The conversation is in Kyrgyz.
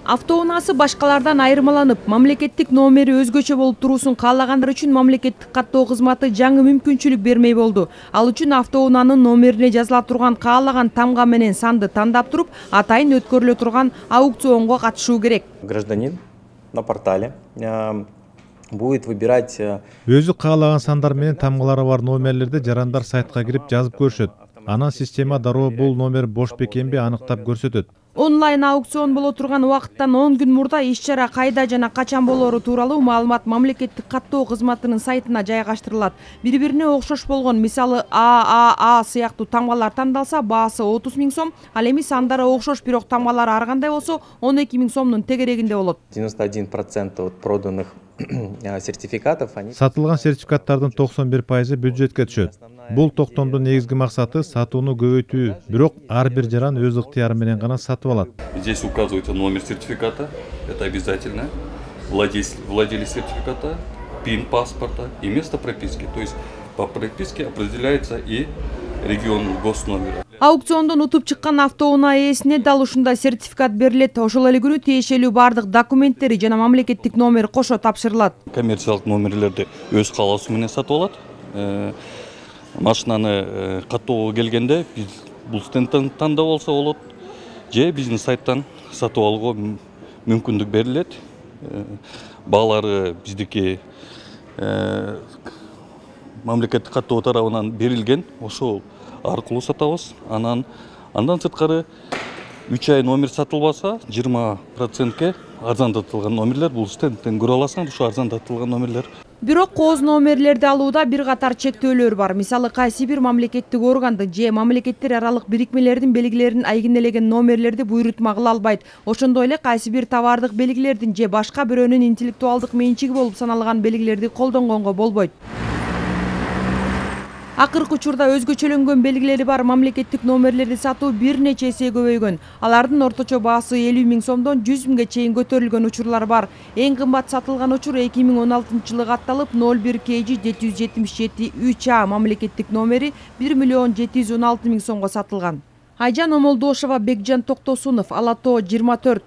Автоунаасы башкалардан айырмаланып, мамлекеттик номери өзгөчө болуп туруусун каалагандар үчүн мамлекеттик каттоо кызматы жаңы мүмкүнчүлүк бермей болду. Ал үчүн автоунаанын номерине жазыла турган каалаган тамга менен санды тандап туруп, атайын өткөрүлө турган аукционго катышуу керек. Гражданин на портале будет выбирать өзү каалаган сандар менен тамгалары бар номерлерди жарандар сайтка кирип жазып көрүшөт. Анан система дароо бул номер бош бекенби аныктап көрсөтөт. Онлайн аукцион боло турган убакыттан 10 күн мурда иш-чара кайда жана качан болору тууралуу маалымат мамлекеттик каттоо кызматынын сайтына жайгаштырылат. Бири-бирине окшош болгон, мисалы ААА сыяктуу тамгалар тандалса, баасы 30 000 сом, ал эми сандары окшош, бирок тамгалары ар кандай болсо 12 000 сомдун тегерегинде болот. 91% от проданных сертификатов сатылган сертификаттардын 91% бюджетке түшөт. Бул токтомдун негизги максаты сатууну көбөйтүү, бирок ар бир жаран өз ыктыяры менен гана сатып алат. Здесь указывается номер сертификата, это обязательно, владелец сертификата, пин паспорта и место прописки. То есть по прописке определяется и регион госномера. Аукциондон утуп чыккан автоунаа ээсине дал ушундай сертификат берилет. Ошол эле күнү тиешелүү бардык документтери жана мамлекеттик номер кошо тапшырылат. Коммерциялык номерлерди өз каалоосу менен сатып алат. Машинаны каттоого келгенде биз бул стендтен тандап алса болот, же биздин сайттан сатып алууга мүмкүндүк берилет. Баалары биздики мамлекеттик каттоо тарабынан берилген, ошол аркылуу сатабыз. Андан сырткары 3 ай номер сатылбаса 20%ке арзандатылган номерлер, бул стендтен көрө аласың, ушу арзандатылган номерлер. Бирок кооз номерлерди алууда бир катар чектөөлөр бар. Мисалы кайсы бир мамлекеттик органдын же мамлекеттер аралык бирикмелердин белгилерин айгинелеген номерлерди буйрутма кыла албайт. Ошондой эле кайсы бир товардык белгилердин же башка бирөөнүн интеллектуалдык менчиги болуп саналган белгилерди колдонгонго болбойт. Акыркы учурда өзгөчөлөнгөн белгилери бар мамлекеттик номерлерди сатуу бир нече эсе көбөйгөн. Алардын орточо баасы 50 000 сомдон 100 000ге чейин көтөрүлгөн учурлар бар. Эң кымбат сатылган учур 2016-жылы катталып 01 KG 777 3A мамлекеттик номери 1 716 000 сомго сатылган. Айжан Омолдошова, Бекжан Токтосунов, Ала Тоо 24.